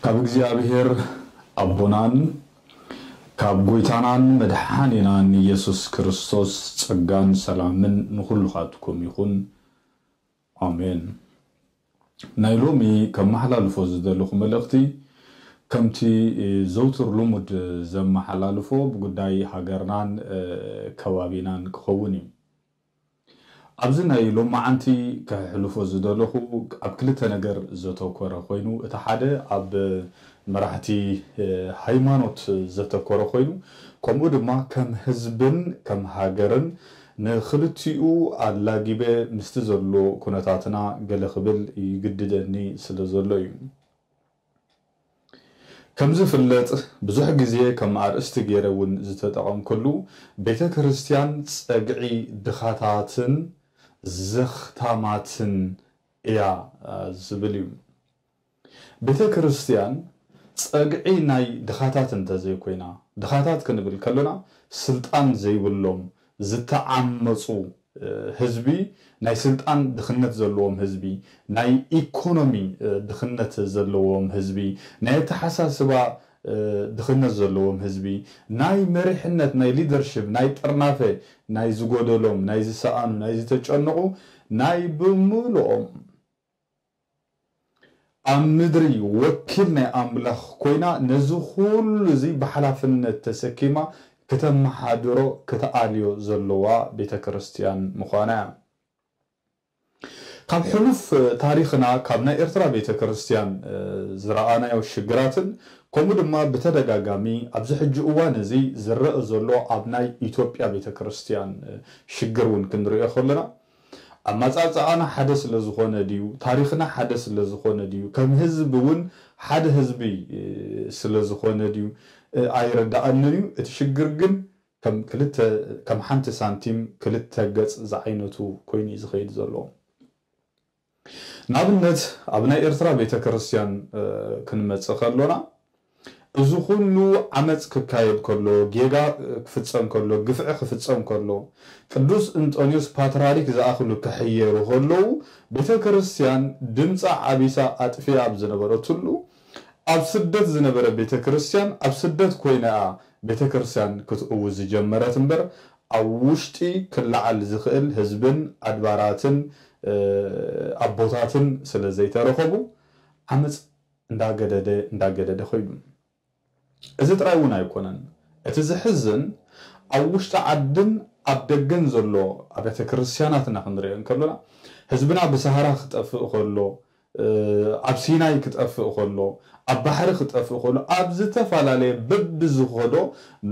ካብ እግዚኣብሔር ኣቦናን ካብ ጎይታናን መድሓኒናን ኢየሱስ ክርስቶስ ጸጋን ሰላምን ንኹልኻትኩም ይኹን። ኣሜን። ናይ ሎሚ ከመሓላልፎ ዝደለኹ መልእኽቲ ከምቲ ዘውትር ልሙድ ዘመሓላልፎ ብጉዳይ ሃገርናን ከባቢናን ክኸውን እዩ። ኣብዚ ናይ ሎማዓንቲ ከሕልፎ ዝደለኹ ኣብ ክልተ ነገር ዘተኮረ ኮይኑ፣ እቲ ሓደ ኣብ መራሕቲ ሃይማኖት ዘተኮረ ኮይኑ፣ ከምኡ ድማ ከም ህዝብን ከም ሃገርን ንክልቲኡ ኣላጊበ ምስቲ ዘሎ ኩነታትና ገለ ክብል ይግድደኒ ስለ ዘሎ እዩ። ከም ዝፍለጥ ብዙሕ ግዜ ከም ኣርእስቲ ገይረ እውን ዝተጠቐምኩሉ ቤተ ክርስቲያን ጸግዒ ድኻታትን ዘኽታማትን እያ ዝብል እዩ። ቤተ ክርስቲያን ጸግዒ ናይ ድኻታት እንተዘይኮይና፣ ድኻታት ክንብል ከሎና ስልጣን ዘይብሎም ዝተዓመጹ ህዝቢ፣ ናይ ስልጣን ድኽነት ዘለዎም ህዝቢ፣ ናይ ኢኮኖሚ ድኽነት ዘለዎም ህዝቢ፣ ናይ ኣተሓሳስባ ድኽነት ዘለዎም ህዝቢ፣ ናይ መሪሕነት ናይ ሊደርሽፕ ናይ ጥርናፈ ናይ ዝጎደሎም ናይ ዝሰኣኑ ናይ ዝተጨነቑ ናይ ብምልኦም ኣብ ምድሪ ወኪል ናይ ኣምላኽ ኮይና ነዚ ኩሉ እዚ ብሓላፍነት ተሰኪማ ክተመሓድሮ ክትኣልዮ ዘለዋ ቤተ ክርስቲያን ምዃና እያ። ካብ ሕሉፍ ታሪኽና ካብ ናይ ኤርትራ ቤተ ክርስቲያን ዝረኣናዮ ሽግራትን ከምኡ ድማ ብተደጋጋሚ ኣብዚ ሕጂ እዋን እዚ ዝረአ ዘሎ ኣብ ናይ ኢትዮጵያ ቤተ ክርስቲያን ሽግር እውን ክንሪኦ ከለና ኣመጻጽኣና ሓደ ስለ ዝኾነ ድዩ፣ ታሪኽና ሓደ ስለ ዝኾነ ድዩ፣ ከም ህዝቢ እውን ሓደ ህዝቢ ስለ ዝኾነ ድዩ ኣይርዳኣንን እዩ። እቲ ሽግር ግን ከም ክልተ ከም ሓንቲ ሳንቲም ክልተ ገጽ ዝዓይነቱ ኮይኑ እዩ ዝኸይድ ዘሎ። ንኣብነት ኣብ ናይ ኤርትራ ቤተ ክርስቲያን ክንመጽእ ከሎና እዚ ኩሉ ዓመጽ ክካየድ ከሎ፣ ጌጋ ክፍጸም ከሎ፣ ግፍዒ ክፍጸም ከሎ፣ ቅዱስ እንጦንዮስ ፓትርያርክ ዝኣኽሉ ክሕየሩ ከለዉ፣ ቤተ ክርስቲያን ድምጻ ዓቢሳ ኣጥፊኣ ኣብ ዝነበረትሉ፣ ኣብ ስደት ዝነበረ ቤተ ክርስቲያን ኣብ ስደት ኮይና እያ ቤተ ክርስቲያን ክትእውጅ ዝጀመረት እምበር፣ ኣብ ውሽጢ ክለዓል ዝኽእል ህዝብን ኣድባራትን ኣቦታትን ስለ ዘይተረኸቡ ዓመጽ እንዳገደደ እንዳገደደ ኮይኑ። እዚ ጥራይ እውን ኣይኮነን። እቲ ዝሕዝን ኣብ ውሽጢ ዓድን ኣብ ደገን ዘሎ ኣብያተ ክርስቲያናትና ክንሪኦ እንከሎና ህዝብና ብሰሃራ ክጠፍእ ከሎ፣ ኣብ ሲናይ ክጠፍእ ከሎ፣ ኣብ ባሕሪ ክጠፍእ ከሎ፣ ኣብ ዝተፈላለየ በብዝኸዶ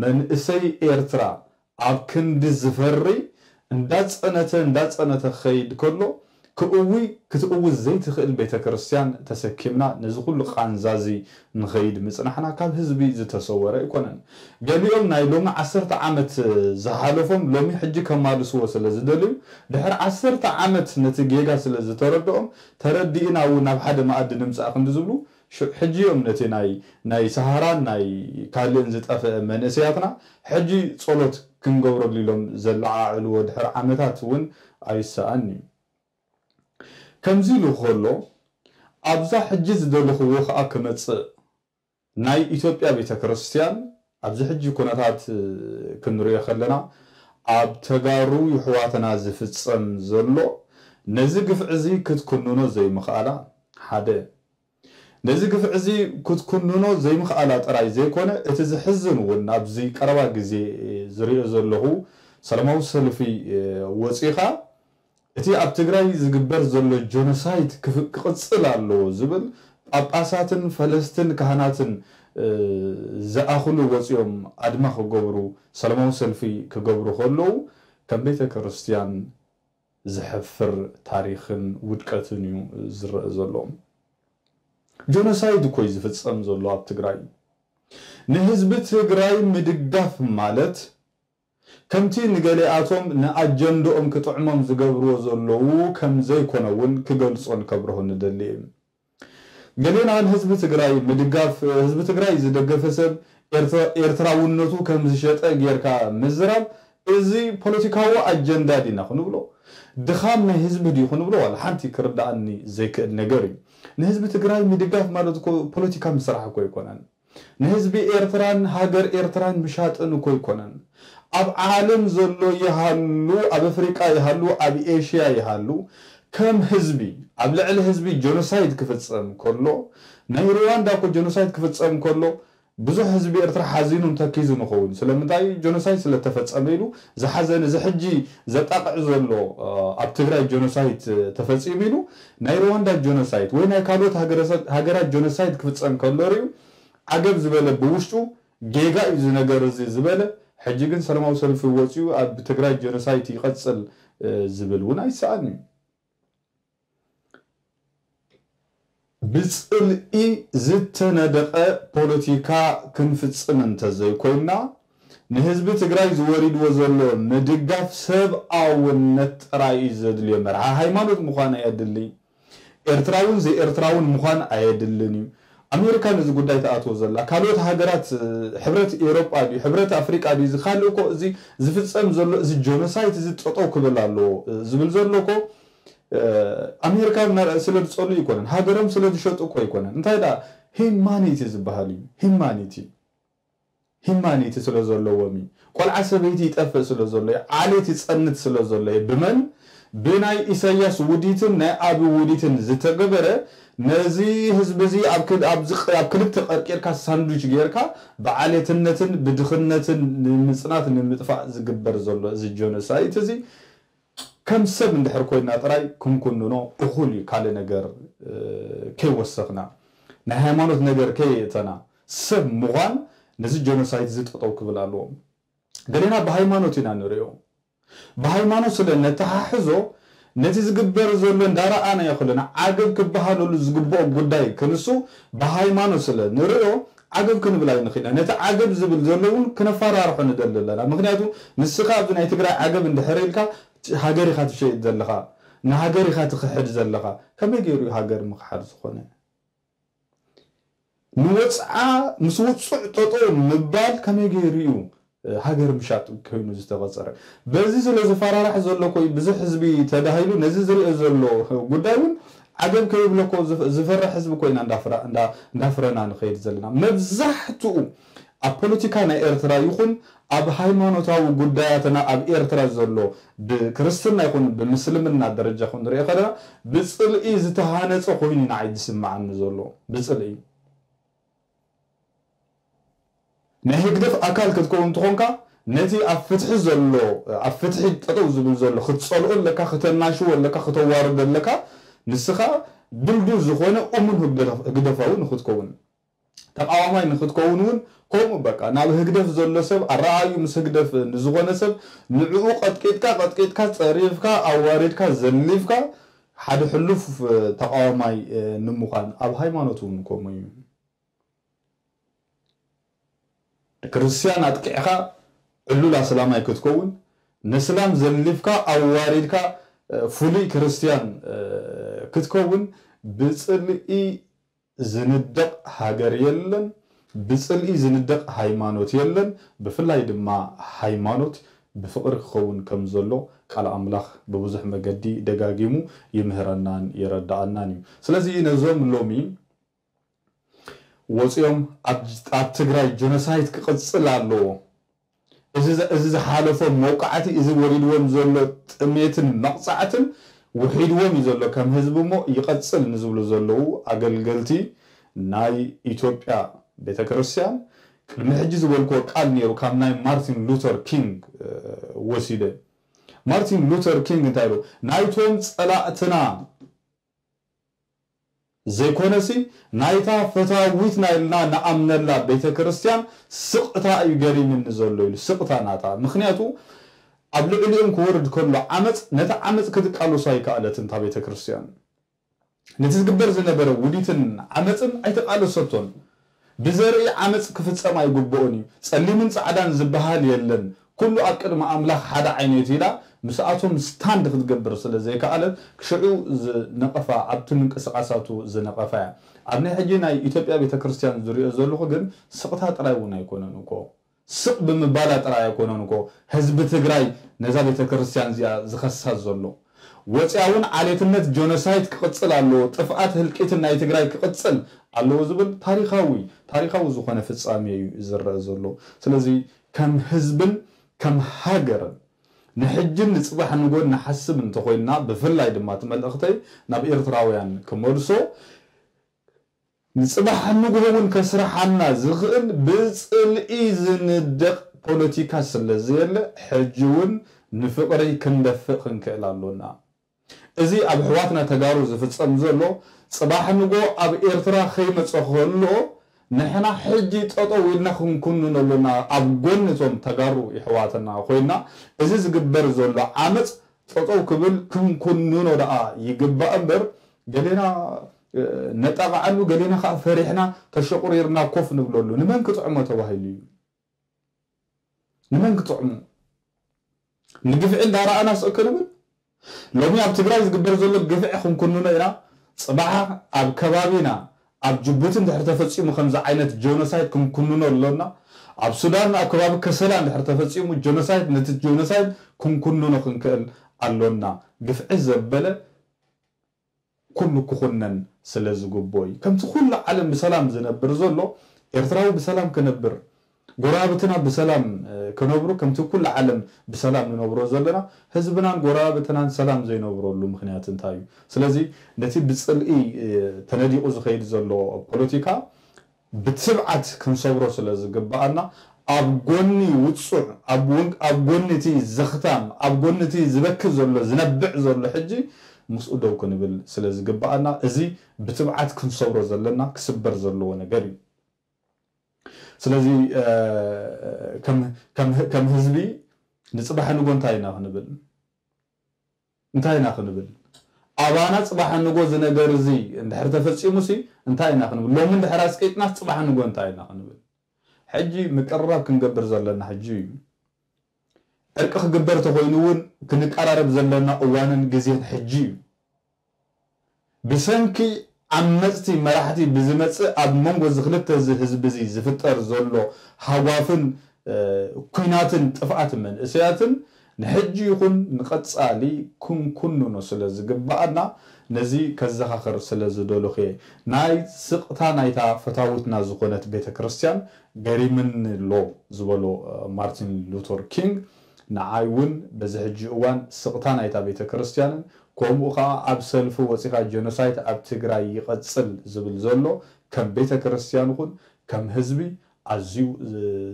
መንእሰይ ኤርትራ ኣብ ክንዲ ዝፈሪ እንዳጸነተ እንዳጸነተ ክኸይድ ከሎ ክእዊ ክትእውዝ ዘይትኽእል ቤተ ክርስቲያን ተሰኪምና ነዚ ኩሉ ቃንዛዚ ንኸይድ ምጽናሕና ካብ ህዝቢ ዝተሰወረ ኣይኮነን። ገሊኦም ናይ ሎሚ ዓሰርተ ዓመት ዝሓለፎም ሎሚ ሕጂ ከማልስዎ ስለ ዝደልዩ ድሕሪ ዓሰርተ ዓመት ነቲ ጌጋ ስለ ዝተረድኦም ተረዲእና እውን ናብ ሓደ መኣዲ ንምጻእ ክንዲ ዝብሉ ሽዑ ሕጂ እዮም ነቲ ናይ ናይ ሰሃራን ናይ ካልእን ዝጠፍአ መንእሰያትና ሕጂ ጸሎት ክንገብረሉ ኢሎም ዘለዓዕልዎ ድሕሪ ዓመታት እውን ኣይሰኣን እዩ። ከምዚ ኢሉ ከሎ ኣብዛ ሕጂ ዝደለኽዎ ከኣ ክመጽእ ናይ ኢትዮጵያ ቤተ ክርስቲያን ኣብዚ ሕጂ ኩነታት ክንሪኦ ከለና ኣብ ተጋሩ ይሕዋትና ዝፍጸም ዘሎ ነዚ ግፍዒ እዚ ክትኩንኖ ዘይምኽኣላ ሓደ ነዚ ግፍዒ እዚ ክትኩንኖ ዘይምኽኣላ ጥራይ ዘይኮነ፣ እቲ ዝሕዝን እውን ኣብዚ ቀረባ ግዜ ዝሪኦ ዘለኹ ሰላማዊ ሰልፊ ወፂኻ እቲ ኣብ ትግራይ ዝግበር ዘሎ ጀኖሳይድ ክፍ- ክቕፅል ኣለዎ ዝብል ጳጳሳትን ፈለስትን ካህናትን ዝኣኽሉ ወፂኦም ኣድማ ክገብሩ ሰላማዊ ሰልፊ ክገብሩ ከለዉ ከም ቤተ ክርስቲያን ዘሕፍር ታሪኽን ውድቀትን እዩ ዝረአ ዘሎ። ጀኖሳይድ እኮ እዩ ዝፍጸም ዘሎ ኣብ ትግራይ። ንህዝቢ ትግራይ ምድጋፍ ማለት ከምቲ ንገሊኣቶም ንኣጀንድኦም ክጥዕሞም ዝገብርዎ ዘለዉ ከም ዘይኮነ እውን ክገልጾን ከብርሆ ንደሊ እየ። ገሊና ንህዝቢ ትግራይ ምድጋፍ ህዝቢ ትግራይ ዝደገፈ ሰብ ኤርትራውነቱ ከም ዝሸጠ ጌርካ ምዝራብ እዚ ፖለቲካዊ ኣጀንዳ ዲና ክንብሎ ድኻም ናይ ህዝቢ ድዩ ክንብሎ ዋላ ሓንቲ ክርዳኣኒ ዘይክእል ነገር እዩ። ንህዝቢ ትግራይ ምድጋፍ ማለት እኮ ፖለቲካ ምስራሕ እኮ ኣይኮነን። ንህዝቢ ኤርትራን ሃገር ኤርትራን ምሻጥን እኮ ኣይኮነን። ኣብ ዓለም ዘሎ ይሃሉ፣ ኣብ ኣፍሪቃ ይሃሉ፣ ኣብ ኤሽያ ይሃሉ፣ ከም ህዝቢ ኣብ ልዕሊ ህዝቢ ጀኖሳይድ ክፍጸም ከሎ፣ ናይ ሩዋንዳ እኮ ጀኖሳይድ ክፍጸም ከሎ ብዙሕ ህዝቢ ኤርትራ ሓዚኑን ተኪዙ ንኸውን። ስለምንታይ? ጀኖሳይድ ስለተፈጸመ ኢሉ ዝሓዘነ፣ እዚ ሕጂ ዘጣቕዕ ዘሎ ኣብ ትግራይ ጀኖሳይድ ተፈጺሙ ኢሉ ናይ ሩዋንዳ ጀኖሳይድ ወይ ናይ ካልኦት ሃገራት ጀኖሳይድ ክፍጸም ከሎ ሪኡ ዓገብ ዝበለ፣ ብውሽጡ ጌጋ እዩ እዚ ነገር እዚ ዝበለ፣ ሕጂ ግን ሰላማዊ ሰልፊ ወፂኡ ኣብ ትግራይ ጀኖሳይድ ይቐፅል ዝብል እውን ኣይሰኣን እዩ። ብፅልኢ ዝተነደቐ ፖለቲካ ክንፍፅም እንተዘይኮይና፣ ንህዝቢ ትግራይ ዝወሪድዎ ዘሎ ምድጋፍ ሰብኣውነት ጥራይ እዩ ዘድልዮ። መርሓ ሃይማኖት ምዃን ኣየድሊ። ኤርትራውን ዘይኤርትራውን ምዃን ኣየድልን እዩ። ኣሜሪካ ነዚ ጉዳይ ትኣትዎ ዘላ፣ ካልኦት ሃገራት፣ ሕብረት ኤውሮጳ ድዩ፣ ሕብረት ኣፍሪቃ ድዩ፣ እዚ ካልእ እኮ፣ እዚ ዝፍጸም ዘሎ፣ እዚ ጆኖሳይት እዚ ጠጠው ክብል ኣለዎ ዝብል ዘሎ እኮ፣ ኣሜሪካ ስለ ዝጸሉ ኣይኮነን፣ ሃገሮም ስለ ዝሸጡ እኮ ኣይኮነን። እንታይ ደኣ ሂማኒቲ ዝበሃል እዩ። ሂማኒቲ ሂማኒቲ ስለ ዘለዎም እዩ። ቆልዓ ሰበይቲ ይጠፍእ ስለ ዘሎ እዩ። ዓሌት ይጸንት ስለ ዘሎ እዩ። ብመን? ብናይ ኢሳያስ ውዲትን ናይ ኣቢ ውዲትን ዝተገበረ፣ ነዚ ህዝቢ እዚ ኣብ ክል-፣ ኣብ ዝቅ-፣ ኣብ ክልተ ቀርቂርካ ሳንድዊች ጌርካ ብዓሌትነትን ብድኽነትን ንምጽናት ንምጥፋእ ዝግበር ዘሎ እዚ ጆኖሳይት እዚ ከም ሰብ እንድሕር ኮይና ጥራይ ክንኩንኖ እኹል እዩ። ካልእ ነገር፣ እ፣ ከይወሰኽና፣ ናይ ሃይማኖት ነገር ከየእተና፣ ሰብ ምዃን ነዚ ጀኖሳይት እዚ ጠጠው ክብል ኣለዎ። ገሌና ብሃይማኖት ኢና ንሪኦ። ብሃይማኖት ስለ ነተሓሕዞ፣ ነቲ ዝግበር ዘሎ እንዳረኣናዮ ከለና፣ ዓገብ ክበሃለሉ ዝግብኦ ጉዳይ ክንሱ ብሃይማኖት ስለ ንሪኦ፣ ዓገብ ክንብል ኣይንኽእልን። ነቲ ዓገብ ዝብል ዘሎ እውን ክነፈራርሖ ንደሊ ኣለና። ምኽንያቱ ንስኻ ኣብዚ ናይ ትግራይ ዓገብ እንድሕር ኢልካ፣ ሃገር ኢኻ ትሸይጥ ዘለኻ፣ ንሃገር ኢኻ ትኽሕድ ዘለኻ። ከመይ ገይሩ እዩ ሃገር ምኽሓድ ዝኾነ? ንወፅዓ ምስ ውፁዕ ጠጠው ምባል ከመይ ገይሩ እዩ ሃገር ምሻጥ ኮይኑ ዝተቐፀረ? በዚ ስለ ዝፈራራሕ ዘሎ እኮ እዩ ብዙሕ ህዝቢ ተዳሂሉ ነዚ ዝሪኦ ዘሎ ጉዳይ እውን ዓገብ ከይብሎ እኮ ዝፈ-፣ ዝፈርሕ ህዝቢ እኮ ኢና እንዳፍራ-፣ እንዳ-፣ እንዳፍረና ንኸይድ ዘለና። መብዛሕትኡ ኣብ ፖለቲካ ናይ ኤርትራ ይኹን ኣብ ሃይማኖታዊ ጉዳያትና ኣብ ኤርትራ ዘሎ ብክርስትና ይኹን ብምስልምና ደረጃ ክንሪኦ ከለና ብጽልኢ ዝተሃነጸ ኮይኑ ንዓይ ዝስምዓኒ ዘሎ። ብጽልኢ። ናይ ህግደፍ ኣካል ክትከውን እንተኾንካ ነቲ ኣብ ፍትሒ ዘሎ፣ ኣብ ፍትሒ ጠጠው ዝብል ዘሎ ክትጸልኦ ኣለካ፣ ክተናሽዎ ኣለካ፣ ክተዋርዶ ኣለካ። ንስኻ ድልዱል ዝኾነ እሙን ህግደፍ-፣ ህግደፋዊ ንክትከውን። ተቃዋማይ ንክትከውን እውን ከምኡ በቃ ናብ ህግደፍ ዘሎ ሰብ ኣረኣዩ ምስ ህግደፍ ንዝኾነ ሰብ ንዕኡ ቀጥቂጥካ ቀጥቂጥካ ጸሪፍካ ኣዋሪድካ ዘሊፍካ ሓደ ሕሉፍ ተቃዋማይ ንምዃን ኣብ ሃይማኖት እውን ከምኡ እዩ። ክርስትያን ኣጥቂዕካ ዕሉል ኣስላማይ ክትከውን፣ ነስላም ዘሊፍካ ኣዋሪድካ ፍሉይ ክርስትያን ክትከውን ብጽልኢ ዝንደቕ ሃገር የለን፣ ብጽልኢ ዝንደቕ ሃይማኖት የለን። ብፍላይ ድማ ሃይማኖት ብፍቕሪ ክኸውን ከም ዘሎ ቃል ኣምላኽ ብብዙሕ መገዲ ደጋጊሙ ይምህረናን ይረድኣናን እዩ። ስለዚ ነዞም ሎሚ ወፂኦም ኣብ፣ ኣብ ትግራይ ጀኖሳይት ክቕፅል ኣለዎ፣ እዚ፣ እዚ ዝሓለፎም መውቃዕቲ፣ እዚ ወሪድዎም ዘሎ ጥሜትን መቕፃዕትን ውሒድዎም እዩ ዘሎ ከም ህዝቢ እሞ ይቐፅል ንዝብሉ ዘለዉ ኣገልገልቲ ናይ ኢትዮጵያ ቤተክርስትያን ቅድሚ ሕጂ ዝበልክዎ ቃል ነይሩ፣ ካብ ናይ ማርቲን ሉተር ኪንግ፣ እ፣ ወሲደ። ማርቲን ሉተር ኪንግ እንታይ ኢሉ? ናይቶም ጸላእትና ዘይኮነሲ ናይታ ፈታዊትና ኢልና ንኣምነላ ቤተ ክርስቲያን ስቕታ እዩ ገሪምኒ ዘሎ ኢሉ። ስቕታ ናታ። ምኽንያቱ ኣብ ልዕሊኦም ክወርድ ከሎ ዓመፅ፣ ነቲ ዓመፅ ክትቃለሶ ኣይከኣለትን እታ ቤተ ክርስቲያን። ነቲ ዝግበር ዝነበረ ውዲትን ዓመፅን ኣይተቃለሰቶን። ብዘርኢ ዓመፅ ክፍፀም ኣይግብኦን እዩ። ፀሊምን ፃዕዳን ዝበሃል የለን፣ ኩሉ ኣብ ቅድሚ ኣምላኽ ሓደ ዓይነት ኢላ ምስኣቶም ስታንድ ክትገብር ስለ ዘይከኣለት፣ ክሽዑ ዝነቐፋ፣ ኣብቲ ምንቅስቓሳቱ ዝነቐፋ እያ። ኣብ ናይ ሕጂ ናይ ኢትዮጵያ ቤተ ክርስቲያን ዝሪኦ ዘለኹ ግን ስቕታ ጥራይ እውን ኣይኮነን እኮ። ስቕ ብምባላ ጥራይ ኣይኮነን እኮ ህዝቢ ትግራይ ነዛ ቤተ ክርስቲያን እዚኣ ዝኸሳ ዘሎ። ወፂኣ እውን ዓሌትነት ጀኖሳይድ ክቕፅል ኣለዎ፣ ጥፍኣት ህልቂትን ናይ ትግራይ ክቕፅል ኣለዎ ዝብል ታሪኻዊ ታሪኻዊ ዝኾነ ፍፃሜ እዩ ዝረአ ዘሎ። ስለዚ ከም ህዝብን ከም ሃገርን ንሕጅን ንፅባሕ ንጎን ንሓስብ እንተኮይንና፣ ብፍላይ ድማ እቲ መልእኽተይ ናብ ኤርትራውያን ክመልሶ፣ ንፅባሕ ንግሆ እውን ከስርሓና ዝኽእል ብፅልኢ ዝንደቕ ፖለቲካ ስለ ዘየለ፣ ሕጂ እውን ንፍቕሪ ክንደፍእ ክንክእል ኣሎና። እዚ ኣብ ኣሕዋትና ተጋሩ ዝፍፀም ዘሎ፣ ፅባሕ ንጎ ኣብ ኤርትራ ከይመፀ ከሎ ንሕና ሕጂ ጠጠው ኢልና ክንኩንኖ ኣሎና። ኣብ ጎኒ እቶም ተጋሩ ኣሕዋትና ኮይና፣ እዚ ዝግበር ዘሎ ዓመፅ ጠጠው ክብል ክንኩንኖ ደኣ ይግባእ እምበር፣ ገሌና ነጣቕዓሉ፣ ገሌና ከዓ ፈሪሕና ተሸቑሪርና ኮፍ ንብለሉ። ንመን ክጥዕሞ ተባሂሉ እዩ? ንመን ክጥዕሙ? ንግፍዒ እንዳረኣና ስቕ ክንብል? ሎሚ ኣብ ትግራይ ዝግበር ዘሎ ግፍዒ ክንኩንኖ ኢና። ፅባሕ ኣብ ከባቢና ኣብ ጅቡቲ እንድሕር ተፈፂሙ ከምዚ ዓይነት ጀኖሳይድ ክንኩንኖ ኣሎና። ኣብ ሱዳን ኣብ ከባቢ ከሰላ እንድሕር ተፈፂሙ ጀኖሳይድ፣ ነቲ ጀኖሳይድ ክንኩንኖ ክንክእል ኣሎና። ግፍዒ ዘበለ ኩሉ ክኹነን ስለ ዝግብኦ እዩ። ከምቲ ኩሉ ዓለም ብሰላም ዝነብር ዘሎ፣ ኤርትራዊ ብሰላም ክነብር፣ ጎረባብትና ብሰላም ክነብሩ፣ ከምቲ ኩሉ ዓለም ብሰላም ንነብሮ ዘለና፣ ህዝብናን ጎረባብትናን ሰላም ዘይነብረሉ ምኽንያት እንታይ እዩ? ስለዚ ነቲ ብፅልኢ ተነዲቑ ዝኸይድ ዘሎ ፖለቲካ ብትብዓት ክንሰብሮ ስለ ዝግብኣና፣ ኣብ ጎኒ ውጹዕ፣ ኣብ ጎን-፣ ኣብ ጎኒ እቲ ዘኽታም፣ ኣብ ጎኒ እቲ ዝበኪ ዘሎ፣ ዝነብዕ ዘሎ ሕጂ ምስኡ ደው ክንብል ስለ ዝግብኣና፣ እዚ ብትብዓት ክንሰብሮ ዘለና ክስበር ዘለዎ ነገር እዩ። ስለዚ፣ እ፣ ከም፣ ከም፣ ከም ህዝቢ ንጽባሕ ንጎ እንታይ ኢና ክንብል? እንታይ ኢና ክንብል? ኣባና ጽባሕ ንጎ እዚ ነገር እዚ እንድሕር ተፈጺሙሲ እንታይ ኢና ክንብል? ሎሚ እንድሕር ኣስቂጥናስ ጽባሕ ንጎ እንታይ ኢና ክንብል? ሕጂ ምቅርራብ ክንገብር ዘለና ሕጂ እዩ። ዕርቂ ክግበር ተኾይኑ እውን ክንቀራረብ ዘለና እዋንን ግዜን ሕጂ እዩ። ብሰንኪ ዓመጽቲ መራሕቲ ብዝመጽእ ኣብ መንጎ እዚ ክልተ እዚ ህዝቢ እዚ ዝፍጠር ዘሎ ሃጓፍን፣ እ፣ ኲናትን ጥፍኣት መንእሰያትን ንሕጂ ይኹን ንቐጻሊ ክንኩንኖ ስለ ዝግብኣና ነዚ ከዘኻኽር ስለ ዝደለኹ እየ። ናይ ስቕታ ናይታ ፈታውትና ዝኾነት ቤተ ክርስቲያን ገሪምኒ ኣሎ ዝበሎ፣ እ፣ ማርቲን ሉተር ኪንግ ንዓይ እውን በዚ ሕጂ እዋን ስቕታ ናይታ ቤተ ክርስቲያንን ከምኡ ኸዓ ኣብ ሰልፊ ወፂኻ ጀኖሳይድ ኣብ ትግራይ ይቐፅል ዝብል ዘሎ ከም ቤተ ክርስቲያን ይኹን ከም ህዝቢ ኣዝዩ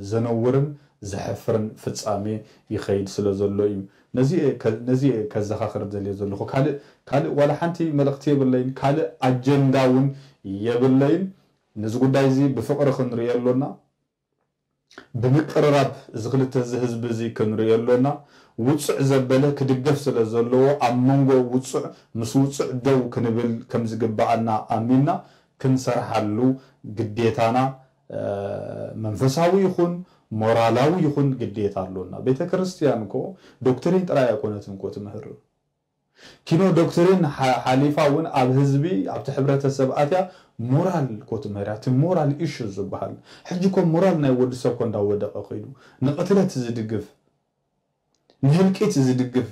ዘነውርን ዘሕፍርን ፍጻሜ ይኸይድ ስለ ዘሎ እዩ። ነዚ እየ ከ-፣ ነዚ እየ ከዘኻኽር ደልየ ዘለኹ። ካልእ፣ ካልእ ዋላ ሓንቲ መልእኽቲ የብለይን፣ ካልእ ኣጀንዳ እውን የብለይን። ነዚ ጉዳይ እዚ ብፍቕሪ ክንርእዮ ኣሎና። ብምቅርራብ እዚ ክልተ እዚ ህዝቢ እዚ ክንርእዮ ኣሎና። ውጹዕ ዘበለ ክድገፍ ስለ ዘለዎ ኣብ መንጎ ውጹዕ ምስ ውጹዕ ደው ክንብል ከም ዝግብኣና ኣሚንና ክንሰርሓሉ ግዴታና፣ እ፣ መንፈሳዊ ይኹን ሞራላዊ ይኹን ግዴታ ኣሎና። ቤተ ክርስቲያን እኮ ዶክትሪን ጥራይ ኣይኮነትን እኮ ትምህር። ኪኖ ዶክትሪን ሓ-፣ ሓሊፋ እውን ኣብ ህዝቢ፣ ኣብቲ ሕብረተሰብ ኣትያ ሞራል እኮ ትምህር እያ። እቲ ሞራል ኢሹ ዝበሃል። ሕጂ እኮ ሞራል ናይ ወዲ ሰብ እኮ እንዳወደቐ ከይዱ። ንቕትለት ዝድግፍ፣ ንህልቂት ዝድግፍ፣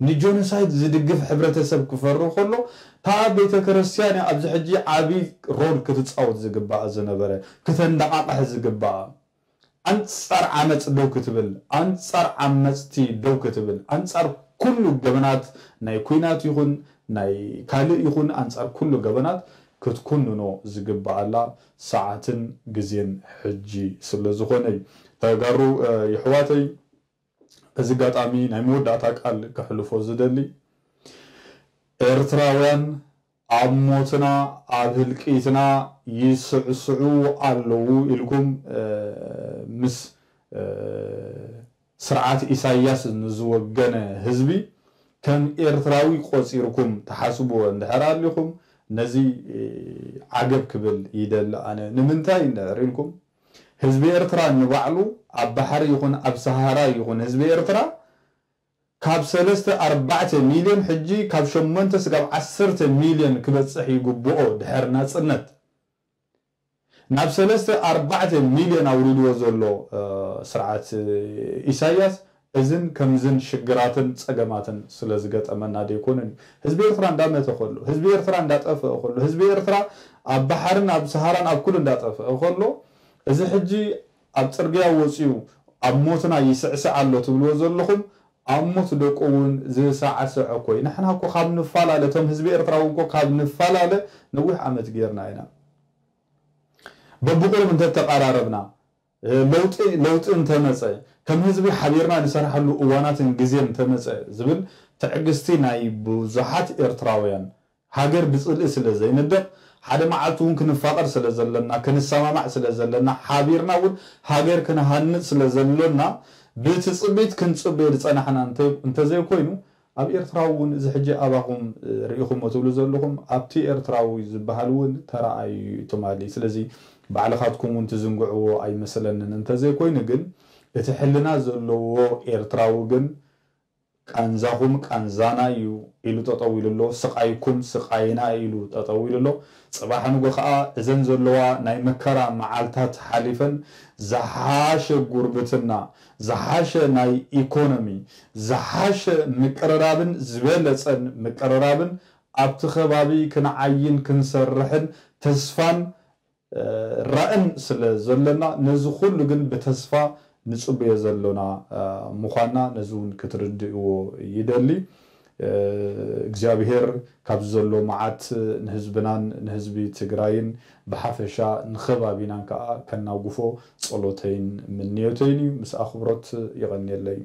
ንጆኖሳይድ ዝድግፍ ሕብረተሰብ ክፈሪ ከሎ፣ እታ ቤተ ክርስቲያን እያ ኣብዚ ሕጂ ዓቢ ሮል ክትጻወት ዝግባኣ ዝነበረ፣ ክተንደቓቕሕ ዝግባኣ። ኣንጻር ዓመጽ ደው ክትብል፣ ኣንጻር ዓመጽቲ ደው ክትብል፣ ኣንጻር ኩሉ ገበናት ናይ ኲናት ይኹን ናይ ካልእ ይኹን ኣንጻር ኩሉ ገበናት ክትኩንኖ ዝግባኣላ ሰዓትን ግዜን ሕጂ ስለ ዝኾነ እዩ። ተጋሩ፣ እ፣ የሕዋተይ፣ በዚ ኣጋጣሚ ናይ መወዳእታ ቃል ከሕልፎ ዝደሊ፣ ኤርትራውያን ኣብ ሞትና ኣብ ህልቂትና ይስዕስዑ ኣለዉ ኢልኩም፣ እ፣ ምስ፣ እ፣ ስርዓት ኢሳያስ ንዝወገነ ህዝቢ ከም ኤርትራዊ ቆጺርኩም ትሓስብዎ እንድሕር ኣሊኹም፣ ነዚ፣ እ፣ ዓገብ ክብል ይደሊ ኣነ። ንምንታይ እንድሕር ኢልኩም፣ ህዝቢ ኤርትራ ንባዕሉ ኣብ ባሕሪ ይኹን ኣብ ሰሃራ ይኹን ህዝቢ ኤርትራ ካብ ሰለስተ ኣርባዕተ ሚልዮን ሕጂ ካብ ሸሞንተ ስጋብ ዓሰርተ ሚልዮን ክበጽሕ ይግብኦ ድሕር ናጽነት። ናብ ሰለስተ ኣርባዕተ ሚልዮን ኣውሪድዎ ዘሎ፣ እ፣ ስርዓት፣ እ፣ ኢሳያስ እዝን ከምዝን ሽግራትን ጸገማትን ስለ ዝገጠመና ደይኮነን እዩ። ህዝቢ ኤርትራ እንዳመተ ከሎ፣ ህዝቢ ኤርትራ እንዳጠፍአ ከሎ፣ ህዝቢ ኤርትራ ኣብ ባሕርን ኣብ ሰሃራን ኣብ ኩሉ እንዳጠፍአ ከሎ፣ እዚ ሕጂ ኣብ ጽርግያ ወጺኡ ኣብ ሞትና ይስዕስዕ ኣሎ ትብልዎ ዘለኹም፣ ኣብ ሞት ደቁ እውን ዝሳዕስዕ እኮ እዩ። ንሕና እኮ ካብ ንፈላለ፣ እቶም ህዝቢ ኤርትራ እውን እኮ ካብ ንፈላለ ነዊሕ ዓመት ጌርና ኢና። በብቑሩብ እንተተቐራረብና፣ ለውጢ ለውጢ እንተመጸ፣ ከም ህዝቢ ሓቢርና ንሰርሓሉ እዋናትን ግዜን እንተመጸ ዝብል ትዕግስቲ ናይ ብዙሓት ኤርትራውያን፣ ሃገር ብጽልኢ ስለ ዘይንደቕ፣ ሓደ መዓልቲ እውን ክንፋቐር ስለ ዘለና፣ ክንሰማማዕ ስለ ዘለና፣ ሓቢርና እውን ሃገር ክንሃንጽ ስለ ዘሎና፣ ብትጽቢት ክንጽበዮ ዝጸናሕና እንተ-፣ እንተዘይኮይኑ፣ ኣብ ኤርትራ እውን እዚ ሕጂ ኣባኹም፣ እ፣ ርኢኹሞ ትብሉ ዘለኹም፣ ኣብቲ ኤርትራዊ ዝበሃል እውን ተራኣዩ እዩ ትማሊ። ስለዚ ባዕልኻትኩም እውን ትዝንግዕዎ ኣይመስለንን። እንተዘይኮይኑ ግን፣ እቲ ሕልና ዘለዎ ኤርትራዊ ግን፣ ቃንዛኹም ቃንዛና እዩ ኢሉ ጠጠው ኢሉ ኣሎ። ስቓይኩም ስቓይና እዩ ኢሉ ጠጠው ኢሉ ኣሎ። ጽባሕ ንጎ ከኣ እዘን ዘለዋ ናይ መከራ መዓልታት ሓሊፈን፣ ዝሓሸ ጉርብትና፣ ዝሓሸ ናይ ኢኮኖሚ፣ ዝሓሸ ምቅርራብን ዝበለጸን ምቅርራብን ኣብቲ ከባቢ ክንዓይን ክንሰርሕን ተስፋን፣ እ፣ ራእን ስለ ዘለና፣ ነዚ ኩሉ ግን ብተስፋ ንጽበዮ ዘሎና፣ እ፣ ምዃንና ነዚ እውን ክትርድእዎ ይደሊ። እ፣ እግዚኣብሄር ካብዚ ዘሎ መዓት ንህዝብናን ንህዝቢ ትግራይን ብሓፈሻ ንኸባቢናን ከኣ ከናጉፎ ጸሎተይን ምንዮተይን እዩ። ምስ ኣኽብሮት፣ የቐንየለይ።